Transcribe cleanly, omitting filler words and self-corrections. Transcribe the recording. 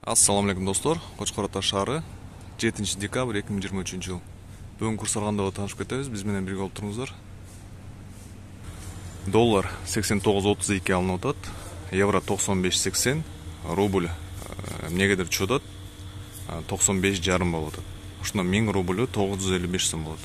Ассаламу алейкум достор. Кочкор Ата шаары 7 декабрь 2023 жыл. Бүгүн курс алганда таанышып кетебиз. Биз менен бирге болуп туруңуздар. Доллар 89.32 алынып атат. Евро 95.80, рубль эмнегедир түшүп атат. 95,5 болуп атат. Ошондон 1000 рубль 955 сом болот.